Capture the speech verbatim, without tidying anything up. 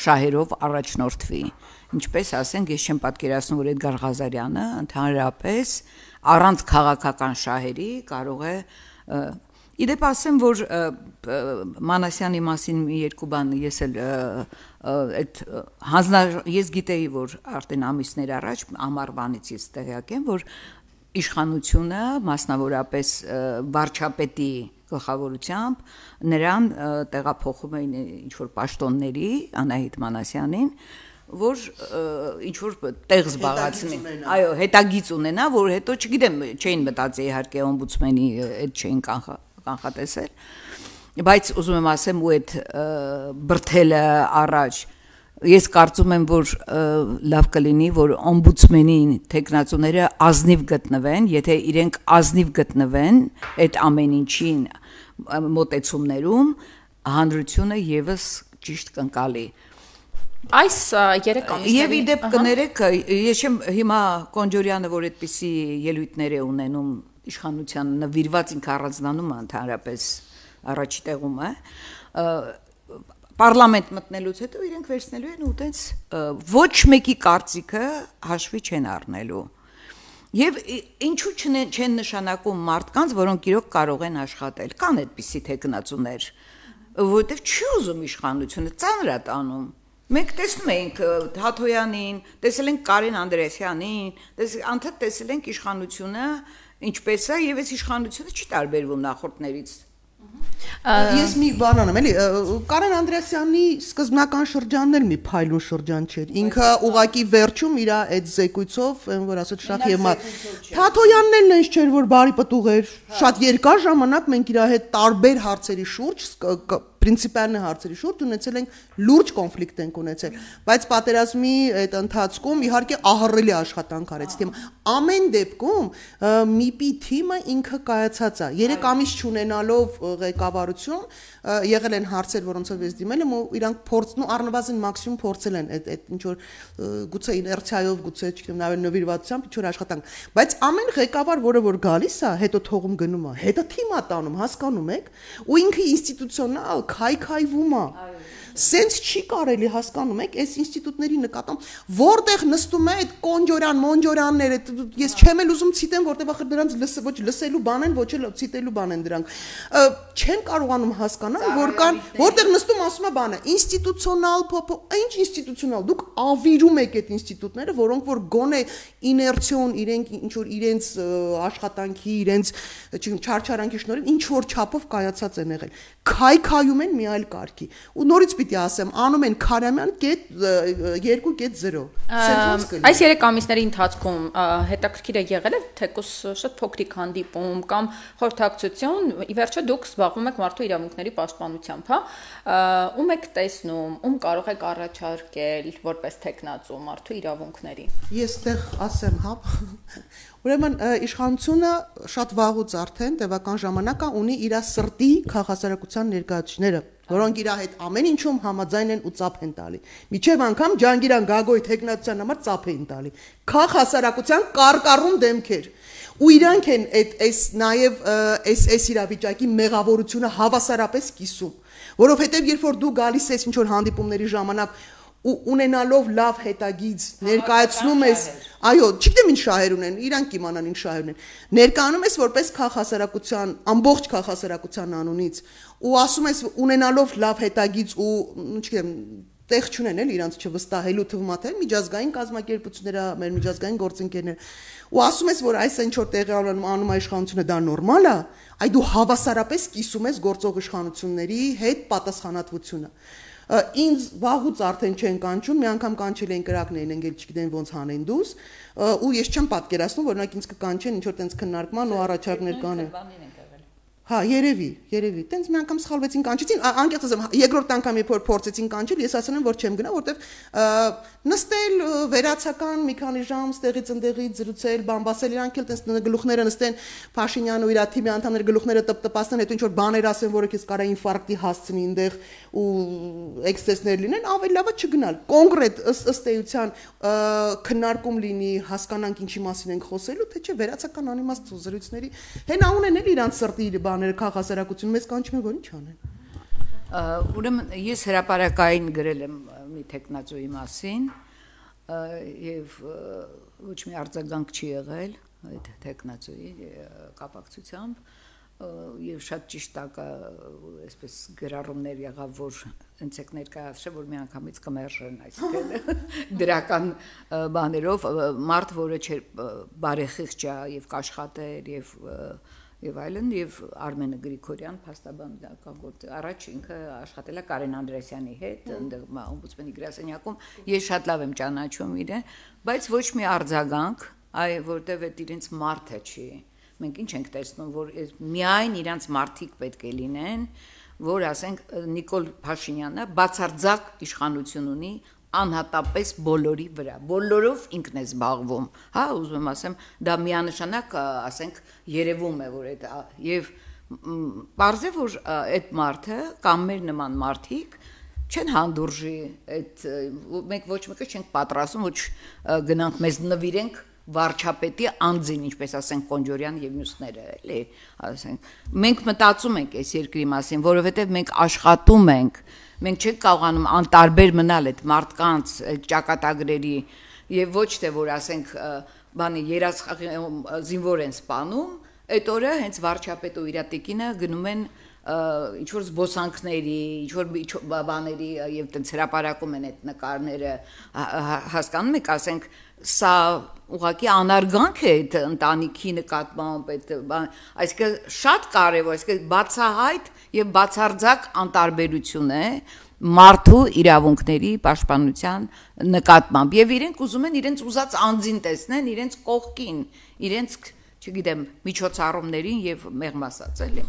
շահերով առաջնորդվի։ Ինչպես ասենք, ես չեմ պատկերացնում, որ Էդգար Ղազարյանը ընդհանրապես առանց քաղաքական շահերի կարող է Իդեպ ասեմ, որ Մանասյանի մասին մի երկու բան ես էլ այդ ես գիտեի, որ արդեն ամիսներ առաջ ամառվանից ես տեղյակ եմ, որ իշխանությունը մասնավորապես վարչապետի գլխավորությամբ նրան տեղափոխում էին ինչ-որ պաշտոնների Անահիտ Մանասյանին, որ ինչ-որ տեղ զբաղացնի, այո, հետագիծ ունենա, որ հետո չգիտեմ, չէին մտածի իհարկե օմբուդսմենի այդ չէին կանխատեսել, բայց ուզում եմ ասեմ ու այդ բրթելը առաջ, ես կարծում եմ, որ լավ կլինի, որ օմբուդսմենին թեկնածուները ազնիվ գտնվեն, եթե իրենք ազնիվ գտնվեն այդ ամեն ինչին մոտեցումներում, հանրությունը եւս ճիշտ կընկալի։ Այս երեք ամիսների Եվ իդեպ կներեք, ես չեմ հիմա Կոնջորյանը, որ այդպիսի ելույթներ է ունենում իշխանության նվիրված ինքը առանձնանում է ընդհանրապես առաջի տեղում է, պարլամենտ մտնելուց հետո իրենք վերցնելու են ու տենց ոչ մեկի կարծիքը հաշվի չեն առնելու։ Եվ ինչու չեն նշանակում մարդկանց, որոնք իրոք կարող են աշխատել, կան այդպիսի թեկնածուներ, որովհետև չի ուզում իշխանությունը, ծանր է տանում։ Մենք տեսնում ենք Հաթոյանին, տեսել ենք Կարեն Անդրեասյանին, անդադ տեսել ենք իշխանությունը ինչպես է, եւ այս իշխանությունը չի տարբերվում նախորդներից։ Ես մի բան անեմ, էլի, Կարեն Անդրեասյանի սկզբնական շրջանն էլ մի փայլուն շրջան չէր։ Ինքը ուղակի վերջում իր այդ զեկույցով, որ ասած շատ եւ մատ։ Թաթոյանն էլ նենց չէր, որ բարի պտուղ էր։ Շատ երկար ժամանակ մենք իր հետ տարբեր հարցերի շուրջ պրինցիպալն հարցերի շուրջ ունեցել ենք լուրջ կոնֆլիկտ ենք ունեցել, բայց պատերազմի այդ ընթացքում իհարկե ահռելի աշխատանք արեց թիմը։ Ամեն դեպքում ՄԻՊ-ի թիմը ինքը կայացած է։ Երեք ամիս չունենալով ղեկավարություն եղել են հարցեր, որոնցով ես դիմել եմ ու իրանք փորձն ու առնվազն մաքսիմում փորձել են այդ այդ ինչ որ գուցե իներցիայով, գուցե չգիտեմ, նաև նվիրվածությամբ ինչ որ աշխատանք, բայց ամեն ղեկավար, որը որ գալիս է, հետո թողում գնում է, հետո թիմ է տանում, հասկանում եք, ու ինքը ինստիտուցիոնալ քայքայվում է։ Սենց չի կարելի հասկանում եք այս ինստիտուտների նկատմամբ որտեղ նստում է այդ կոնջորյան մոնջորանները ես չեմ էլ ուզում ցիտեմ որտեղ ախր դրանց լսը ոչ լսելու բան են ոչ էլ ցիտելու բան են դրանք չեն կարողանում հասկանալ որ կան որտեղ նստում ասում է բանը ինստիտուցիոնալ փոփ ինչ ինստիտուցիոնալ դուք ավիրում եք այդ ինստիտուտները որոնք որ գոնե իներցիոն իրենք ինչ որ իրենց աշխատանքի իրենց չգիտեմ չարչարանքի շնորհիվ ինչ որ չափով կայացած են եղել քայքայում են մի այլ կարգի ու նորից պիտի ասեմ անում են Քարամյան երկու կետ զիրո Այս երեք ամիսների ընթացքում հետաքրքիր է եղել է թեկուզ շատ փոքրիկ հանդիպում կամ խորհրդակցություն ի վերջո դուք զբաղվում եք մարդու իրավունքների պաշտպանությամբ հա ում եք տեսնում ում կարող եք առաջարկել որպես թեկնածու մարդու իրավունքների Ես տեղ ասեմ հա Ուրեմն իշխանությունը շատ վաղուց արդեն տևական ժամանակ ունի իր սրտի քաղաքասարակության ներկայացուցիչները, որոնք իր հետ ամեն ինչում համաձայն են ու ծափ են տալի։ Միջև անգամ Ջանգիրան Գագոյի թեկնածության համար ծափ են տալի։ Քաղաքասարակության կարկառուն դեմքեր։ Ու իրանք են այդ այս նաև այս այս իրավիճակի մեղավորությունը հավասարապես կիսում, որովհետև երբ որ դու գալիս ես ինչ որ հանդիպումների ժամանակ ու ունենալով լավ հետագիծ ներկայացնում ես այո չգիտեմ ինչ շահեր ունեն իրանք իմանան ինչ շահեր ունեն ներկայանում ես որպես քաղաքասարակության ամբողջ քաղաքասարակության անունից ու ասում ես ունենալով լավ հետագիծ ու չգիտեմ տեղ չունեն էլ իրանց չվստահելու թվում է թե միջազգային կազմակերպությունները մեր միջազգային գործընկերներ ու ասում ես որ այս ինչ որ տեղի անում է իշխանությունը դա նորմալ է այ դու հավասարապես կիսում ես գործող իշխանությունների հետ պատասխանատվությունը Ինձ վաղուց արդեն չեն կանչում, մի անգամ կանչել են կրակներին, ընկել չգիտեն ոնց հանեն դուս, ու ես չեմ պատկերացնում, որ նրանք ինձ կկանչեն ինչ որ տենց քննարկման ու առաջարկներ կանեն։ Հա, երևի, երևի, տենց մի անգամ սխալվեցին կանչեցին, անկեղծ ասեմ, երկրորդ անգամ երբ որ փորձեցին կանչել, ես ասել եմ, որ չեմ գնա, որտեվ նստել վերացական մի քանի ժամ ստեղից ընդեղից զրուցել, բամբասել իրանք էլ տենց գլուխները նստեն Փաշինյանը ու իր թիմի անդամները գլուխները տպտպացնեն, հետո ինչ որ բաներ ասեն, որը քեզ կարա ինֆարկտի հասցնի այնտեղ ու էքսցեսներ լինեն, ավելի լավ է չգնալ։ Կոնկրետ ըստ էության քննարկում լինի, հասկանանք ինչի մասին ենք խոսելու, թե չէ վերացական անիմաստ զրույցների հենա ունեն էլ իրանց սրտի բաները քաղաքասարակություն մեզ կանչում են որ ինչ անեն։ Ուրեմն ես հրապարակային գրել եմ մի տեխնացուի մասին եւ ոչ մի արձագանք չի եղել այդ տեխնացուի կապակցությամբ եւ շատ ճիշտ ակա այսպես գրառումներ եղավ որ ընցեք ներկայացրել որ մի անգամից կմերժեն այսինքն դրական բաներով մարդ որը չէր բարեխիղճ է եւ կաշխատեր եւ եւ այլն եւ Արմենը Գրիգորյան փաստաբան կանգորդ առաջ ինքը աշխատել է Կարեն Անդրեասյանի հետ այնտեղ օմբուդսմենի գրասենյակում ես շատ լավ եմ ճանաչում իրեն բայց ոչ մի արձագանք այ որտեվ այդ իրենց մարդը չի մենք ինչ ենք տեսնում որ միայն իրանց մարդիկ պետք է լինեն որ ասենք Նիկոլ Փաշինյանը բացարձակ իշխանություն ունի անհատապես բոլորի վրա բոլորով ինքն է զբաղվում հա ուզում եմ ասեմ դա միանշանակ ասենք երևում է որ այդ եւ բարձե որ այդ մարդը կամ մեր նման մարդիկ չեն հանդուրժի այդ մենք ոչ մեկը չենք պատրաստում ոչ գնանք մեզ նվիրենք վարչապետի անձին ինչպես ասենք Կոնջորյան եւ մյուսները էլի ասենք մենք մտածում ենք այս երկրի մասին որովհետեւ մենք աշխատում ենք մենք չենք կարողանում անտարբեր մնալ այդ մարդկանց այդ ճակատագրերի եւ ոչ թե որ ասենք բանի երաս զինվոր են սպանում այդ օրը հենց վարչապետը ու իր տիկինը գնում են ինչ որ զբոսանքների ինչ որ բաների եւ տենց հրապարակում են այդ նկարները հասկանում եք ասենք սա ուղղակի անարգանք է այդ ընտանիքի նկատմամբ այդ այսինքն շատ կարեւոր այսինքն բացահայտ եւ բացարձակ անտարբերություն է մարդու իրավունքների պաշտպանության նկատմամբ եւ իրենք ուզում են իրենց ուզած անձին տեսնեն իրենց կողքին իրենց չգիտեմ միջոցառումներին եւ մեղմ ասած էլի